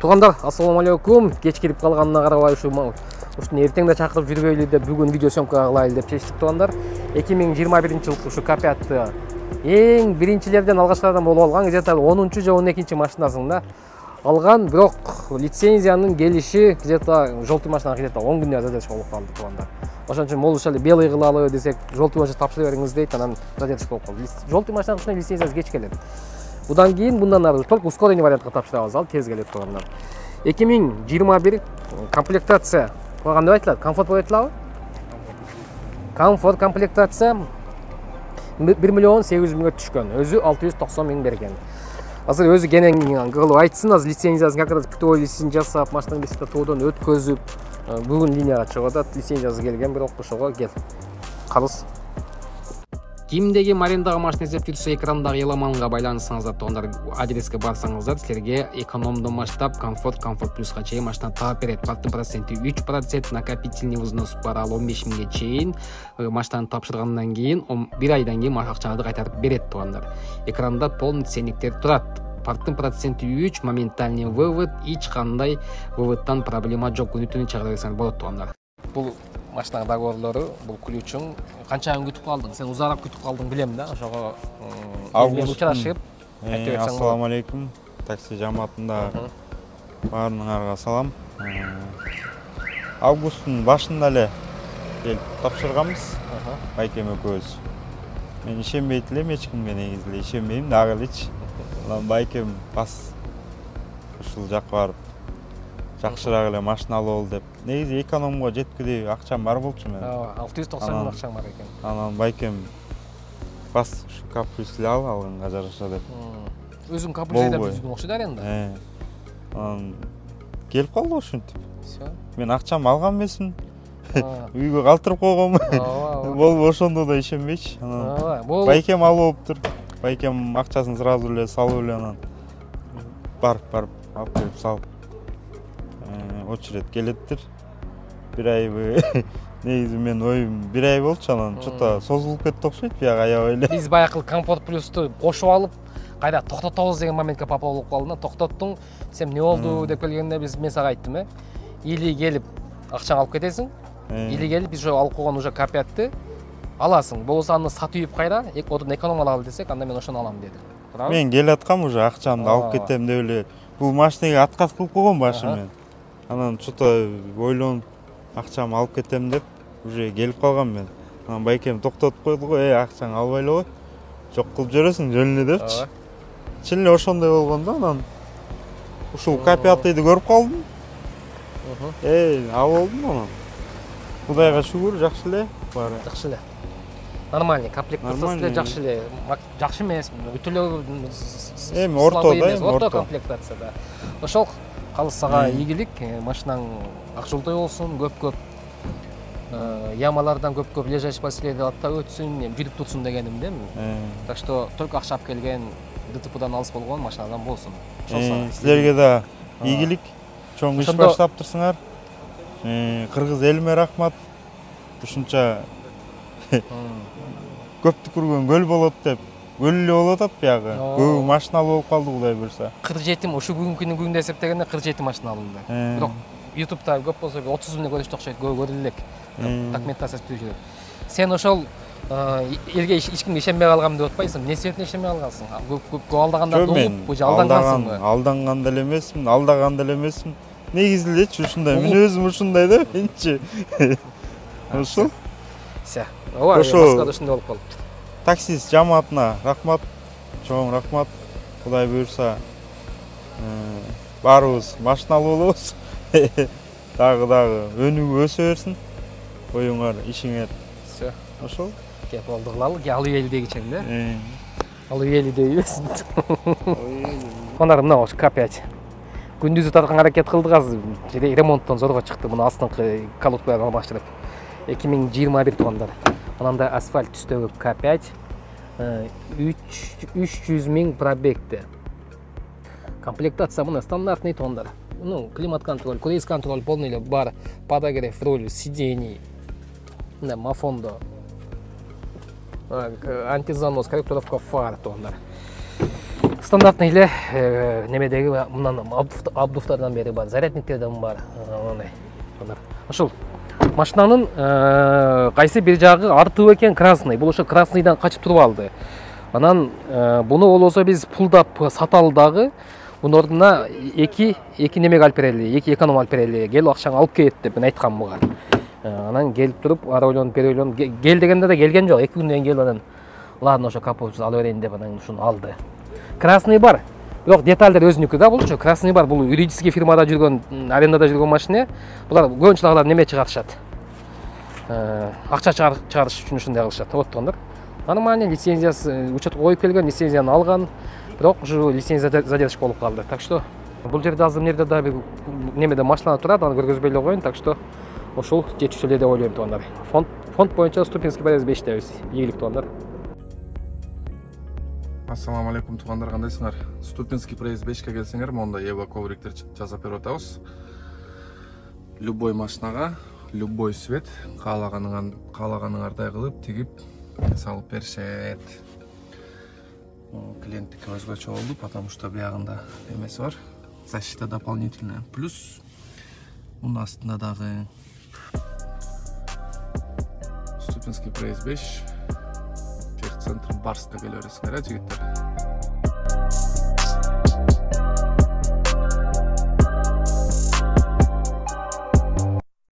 Туугандар, ассаламу алейкум. Кеч кирип калганына карабай ушуну эртеңде чакырып жүрбөйлү деп бүгүн видео съемка кылайлы деп чечтик туугандар. 2021-жылкы ушу К5-ты эң биринчилерден алгачкылардан болуп алган, где-то 10-чу же 12-чи машинасында алган, бирок лицензиянын келиши где-то желтый машинага где-то 10 күндө задержка болуп калды туугандар. Ошон үчүн могул ушул белый кылалы десек, желтый машина тапшыра бериңиз дейт, анан задержка болуп калды. Желтый машинанын лицензиясы кеч келет. Будан кийин мындан ары только ускоренный вариантка тапшырабыз, ал тез келет туугандар. 2021 комплектация калган деп айтылат, комфорт деп айтылабы? Комфорт комплектация 1.800.000 түшкөн, өзү 690.000 берген. Азыр өзү кенен кылып айтсын, азыр лицензиясын как раз птолисин жасап, машинанын бесикте тоодон өткөзүп, бүгүн линияга чыгып атат, лицензиясы келген, бирок ошого кел. Калыс. Кимдеги арендага машина издеп жүрсө, экрандагы ыламанга байланышсаңыздар, туугандар, адреске барсаңыздар, силерге экономдон баштап комфорт плюска чейин машина таап берет. Парктын проценти 3%, накопительный взнос бар, ал 15.000 чейин. Машинаны тапшыргандан кийин 1 айдан кийин акчаңызды кайтарып берет туугандар. Экранда полный ценниктер турат. Парктын проценти 3, моментальный вывод, эч кандай выводтан проблема жок. Күнү-түнү чыгара берсеңиз болот туугандар. Бул машина договорлору, бул ключуң канча күн күтүп калдың? Сен узараак күтүп калдың билем да, ошого мен учурашып айтып берсең. Ассаламу алейкум. Такси жамаатында баарыңарга салам. Августтун башында эле келип тапшырганбыз. Байкем экөөбүз. Мен ишенбейт элем, эч кимге негизи эле ишенбейм, дагы элечи. Анан байкем бас ушул жакка барып жакшыраак эле машина алып ал деп. Негизи экономго жеткүдөй акчам бар болчу мен. 690.000 акчаң бар экен. Анан байкем бас ушу каприсли алганга жараша деп. Өзүң каприз айдап жүргөн окшойт аренда. Анан келип калды ушинтип. Всё. Мен акчамды алган эмесмин. Үйгө калтырып койгонмун. Болбу ошондо да ишенбейчи. Анан байкем алып алыптыр. Байкем акчасын сразу эле салып эле анан барып алып келип салып очеред келеттир. Бир айбы негизи мен оюм бир ай болчу, анан чото созулуп кетти окшойт, бияк аябай эле. Биз баягы комфорт плюсту кошуп алып, кайда токтотобуз деген моментке папа болуп калдым. Токтоттуң, сен эмне болду деп келгенде мен сага айттым, или келип акчаңды алып кетесиң, или келип биз ошо алып койгон уже К5-ты аласың. Болбосо аны сатып үйүп кайра, одон эконом алалы десек, анда мен ошону алам деди. Мен келаткам уже акчамды алып кетем деп эле. Бул машинеге отказ кылып койгон башым мен. Анан чото ойлонуп акчамды алып кетем деп уже келип калгам мен. Анан байкем токтотуп койду го, акчаңды албай эле кой. Жок кылып жүрөсүң жөн эле депчи. Чын эле ошондой болгон да, анан ушул К5-ды көрүп калдым. Алып алдым анан. Кудайга шүгүр, жакшы эле баары. Жакшы эле. Нормальный комплектация эле жакшы эле. Жакшы эмес, өтө эле орто комплектация да. Ошол калыс сага ийгилик, машинаң ак жолтой болсун, көп ямалардан көп лежачий маселеди аттап өтсүн, жүрүп турсун дегеним да. Так что только акча алып келген, ДТПдан алыс болгон машинадан болсун. Силерге да ийгилик, чоң иш баштаптырсыңар. Кыргыз элиме рахмат. Ушунча көп түкүргөн көл болот деп, көл эле болуп атат биягы. Көп машина болуп калды, Кудай буйрса. 47 ушу бүгүнкү күндө эсептегенде 47 машина алынды. Бирок YouTube'да көп болсо 30 миң көрүштү окшойт, көрүлө элек. Документациясы түзүп жүрөт. Сен ошол элге эч кимге ишенбей калгам деп атпайсың? Эмне себептен ишенбей калгансың? Көп алдаганда болуп, же алдангансыңбы? Алданган деле эмесмин, алдаган деле эмесмин. Негизи элечи ушундай, мен өзүм ушундай да, менчи. Ошол. Все. Ошо ушундай болуп калыптыр. Таксист жамаатына рахмат, чоң рахмат. Кудай буйрса баарыбыз машина алып болобуз. Дагы өнүгүп өсө берсин. Оюңар, ишиңер. Все. Ошол. Кеп болду кылалы, алып ели дегичем да. Алып ели дейбесин. Ондар мына ош К5. Күндүзү тарткан аракет кылдык, азыр ремонттон зорго чыкты. Муну астыңкы колодкаларды алмаштырып. 2021 туугандар. Ананда асфальт түстөгү К5 300.000 пробегти. Комплектация мына стандартный туугандар. Климат контроль, круиз контроль полный эле бар, подогрев руль, сидений, мафондо, антизанос, корректировка фар туугандар. стандартный эле немедеги мындан абдуфтардан бери бар, зарядниктерден бар. Ошол машинанын кайсы бир жагы артып экен красный. Бул ошо красныйдан качып туруп алды. Анан буну болосо биз пулдап саталы дагы. Bunun orduна iki немеге алып берели, iki эконом алып берели, кел акчаңы алып кет деп мен айткам буга. Анан келип туруп, ара ойлонуп, бери ойлонуп, кел дегенде да келген жок. 2 күндөн кийин келип анан ладно, ошо капотчу ала берейин деп анан ушуну алды. Красный бар. Бирок детальдер өзүнүкү да булчу. Красный бар. Бул юридический фирмада жүргөн, арендада жүргөн машина. Булар көбүнчүлөр неме чыгарышат. Акча чыгарыш үчүн ушундай кылышат. Оттондор. Нормально лицензиясы учетко коюп келген, лицензияны алган. Бирок ушу лицензия задержка болуп калды. Так что бул жерде азыр эмнеде да бир немеде машина турат, аны көргөзбөй эле коеюн. Так что ошол жетишүү эле деп ойлойм туугандар. Фонд боюнча Ступинский проезд 5-тебиз. Ийгилик туугандар. Ассаламу алейкум туугандар, кандайсыңар? Ступинский проезд 5ке келсеңер, монда Ева ковриктер жасап берип атабыз. Любой машинага, любой цвет, каалаганыңардай кылып тигип салып беришет. Клиенттики өзгөчө болду, потому что биягында эмеси бар. Защита дополнительная. Плюс мунун астында дагы Ступинский проезд 5 техцентр Барска келе бересиңер, жигиттер.